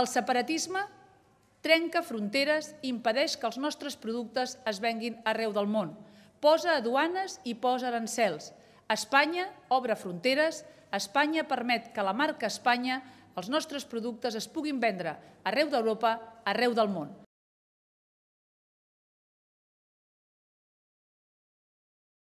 El separatisme trenca fronteres i impedeix que els nostres productes es venguin arreu del món. Posa aduanes i posa arancels. Espanya obre fronteres, Espanya permet que la marca Espanya, els nostres productes, es puguin vendre arreu d'Europa, arreu del món.